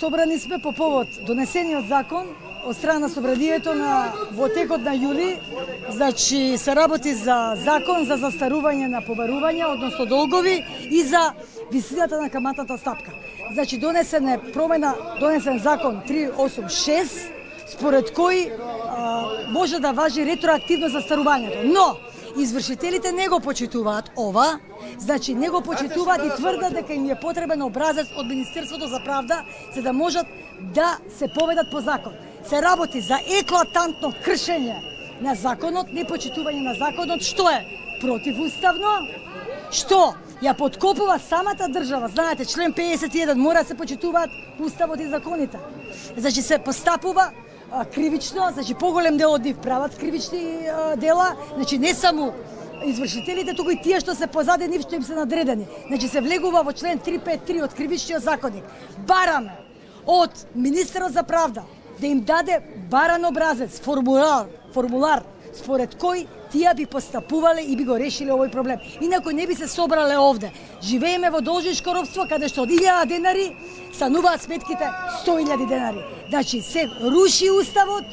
собрани сме по повод донесениот закон од страна на собранието во текот на јули. Значи се работи за закон за застарување на побарувања, односно долгови, и за висината на каматната стапка. Значи донесен закон 386 според кој може да важи ретроактивно застарувањето. Но извршителите не го почитуваат ова, значи не го почитуваат и тврдат дека им е потребен образец од Министерството за правда за да можат да се поведат по закон. Се работи за еклатантно кршење на законот, непочитување на законот, што е противуставно, што ја подкопува самата држава. Знаете, член 51 мора да се почитуваат уставот и законите. Значи се постапува кривично, значи поголем дел од нив прават кривични дела, значи не само извршителите, туку и тие што се позади нив, што им се надредени. Значи се влегува во член 353 од Кривичниот законник. Бараме од Министерот за правда да им даде баран образец, формулар според кој тие би постапувале и би го решиле овој проблем. Инаку не би се собрале овде. Живееме во должничко робство, каде што од 1000 денари стануваат сметките 100.000 денари. Значи се руши уставот,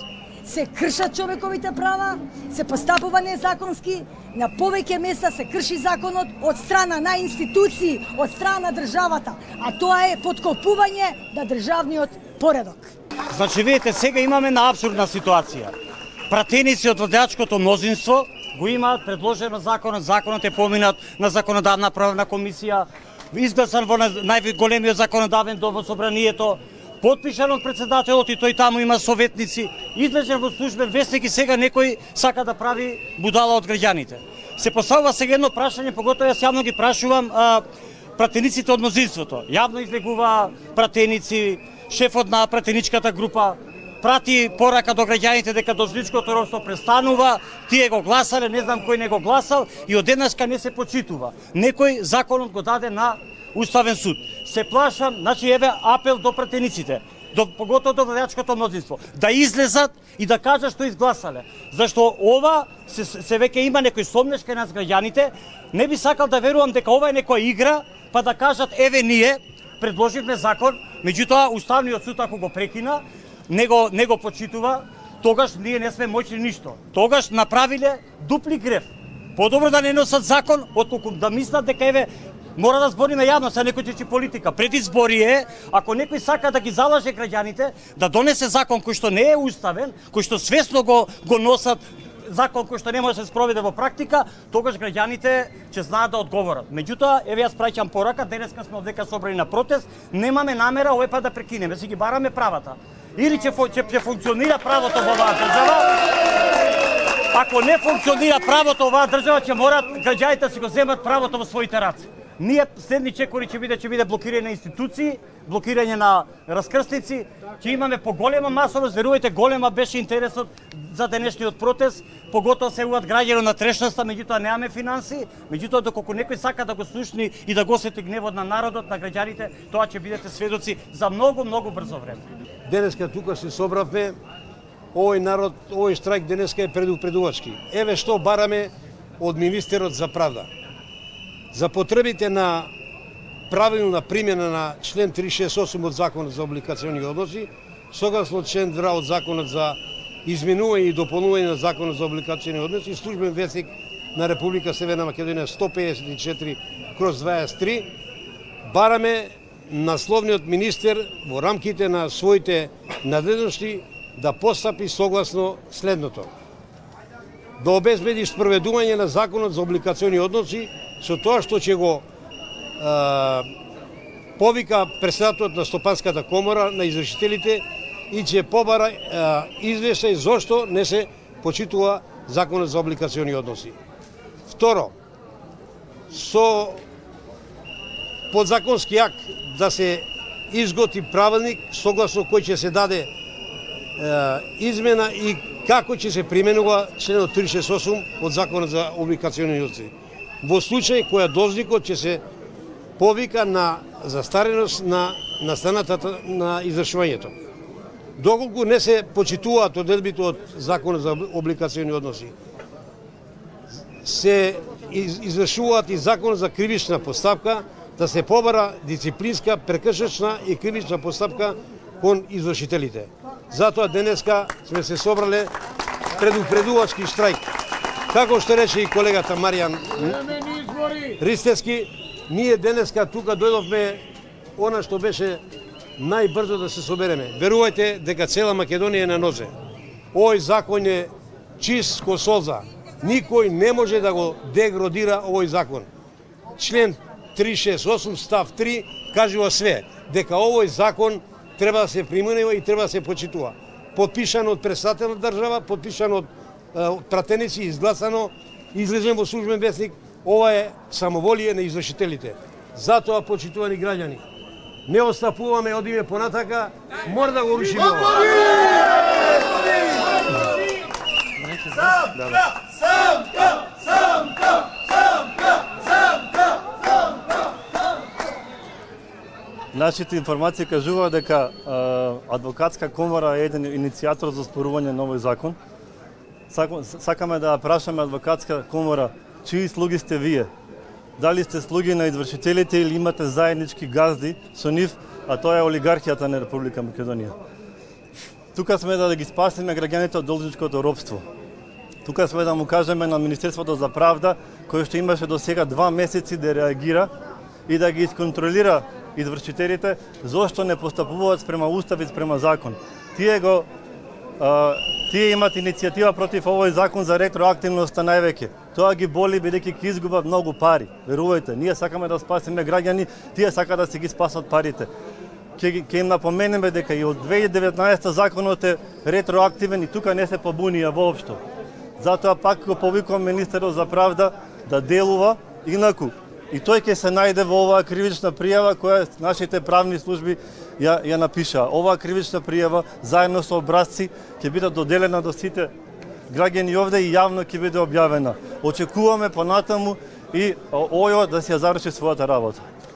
се кршат човековите права, се постапува незаконски, на повеќе места се крши законот од страна на институции, од страна на државата, а тоа е подкопување на државниот поредок. Значи, видите, сега имаме на апсурдна ситуација. Пратеници од владеачкото мнозинство го имаат предложено законот е поминат на законодавна правна комисија, изгласан во најголемиот законодавен дом во собранието, потпишан од председателот и тој таму има советници, излежен во службен вестник и сега некој сака да прави будала од граѓаните. Се поставува сега едно прашање, поготово јас јавно ги прашувам пратениците од мнозинството. Јавно излегува пратеници, шефот на пратеничката група прати порака до граѓаните дека должничкото робство престанува, тие го гласале, не знам кој не го гласал и одеднашка не се почитува. Некој законот го даде на Уставен суд. Се плашам, значи еве апел до пратениците, поготово до владеачкото мнозинство, да излезат и да кажат што изгласале. Зашто ова се веќе има некој сомнеш кај нас граѓаните, не би сакал да верувам дека ова е некоја игра, па да кажат еве ние предложивме закон, меѓутоа Уставниот суд ако го прекина, не го почитува, тогаш ние не сме моќни ништо. Тогаш направиле дупли греф. Подобро да не носат закон, отколку да мислат дека еве мора да збориме јавно, се некој чечи политика. Пред избори е, ако некој сака да ги залаже граѓаните, да донесе закон кој што не е уставен, кој што свесно го носат, закон кој што не може да се спроведе во практика, тогаш граѓаните ќе знаат да одговорат. Меѓутоа, еве јас праќам порака, денеска сме овдека собрани на протест, немаме намера овој пат да прекинеме, си ги бараме правата. Или ќе функционира правото во оваа држава, ако не функционира правото во оваа држава, ќе морат граѓаните да си го земат правото во своите раце. Ние следни чекори ќе биде блокирање на институции, блокирање на раскрстници, ќе имаме поголема масовост, верувајте, голема беше интересот за денешниот протест, поготово се јавуваат граѓани на трешноста, меѓутоа немаме финанси, меѓутоа доколку некој сака да го слушни и да го осети гневот на народот, на граѓаните, тоа ќе бидете сведоци за многу брзо време. Денеска тука се собравме, овој народ, овој штрајк денеска е предувачки. Еве што бараме од Министерот за правда. За потребите на правилна примена на член 368 од Законот за облигациони односи, согласно член 2 од Законот за изменување и дополнување на Законот за облигациони односи, службен вестник на Република Северна Македонија 154/23, бараме насловниот министер во рамките на своите надлежности да постапи согласно следното: да обезбеди спроведување на Законот за облигациони односи со тоа што ќе го повика председателот на Стопанската комора на извршителите и ќе побара извештај зошто не се почитува Законот за облигациони односи. Второ, со подзаконски акт да се изготви правилник согласно кој ќе се даде измена и како ќе се применува членот 368 од Законот за облигациони односи. Во случај која должникот ќе се повика на застареност на настаната на извршувањето. Доколку не се почитуваат одредбите од Законот за облигациони односи, се извршуваат и Законот за кривична постапка, да се побара дисциплинска, прекршечна и кривична постапка кон извршителите. Затоа денеска сме се собрале предупредувачки штрајк. Како што рече и колегата Маријан Ристевски, ние денеска тука дојдовме она што беше најбрзо да се собереме. Верувајте дека цела Македонија е на нозе. Овој закон е чист ко солза. Никој не може да го деградира овој закон. Член 368 став 3 кажува све, дека овој закон треба да се применува и треба да се почитува. Подпишано од председател на држава, подпишано од пратеници, изгласано, излезен во службен весник. Ова е самоволие на извршителите. Затоа, почитувани граѓани, не отстапуваме, одиме понатака, мора да го рушиме ова. Нашите информации кажува дека адвокатска комора е еден иницијатор за оспорување на овој закон. Сакаме да прашаме адвокатска комора, чии слуги сте вие? Дали сте слуги на извршителите или имате заеднички газди со нив, а тоа е олигархијата на Република Македонија. Тука сме да ги спасиме граѓаните од должничкото робство. Тука сме да му кажеме на Министерството за правда, кој што имаше до сега 2 месеци да реагира и да ги исконтролира извршителите, зошто не постапуваат спрема устав и спрема закон. Тие имат иницијатива против овој закон за ретроактивноста највеќе. Тоа ги боли бидејќи ќе изгубат многу пари. Верувајте, ние сакаме да спасиме граѓани, тие сакаат да си ги спасат парите. Ќе им напоменеме дека и од 2019 законот е ретроактивен и тука не се побунија воопшто. Затоа пак го повикувам министерот за правда да делува инаку. И тој ќе се најде во оваа кривична пријава која нашите правни служби ја напишаа. Оваа кривична пријава заедно со образци ќе биде доделена до сите граѓани овде и јавно ќе биде објавена. Очекуваме понатаму и ОЈО да си ја заврши својата работа.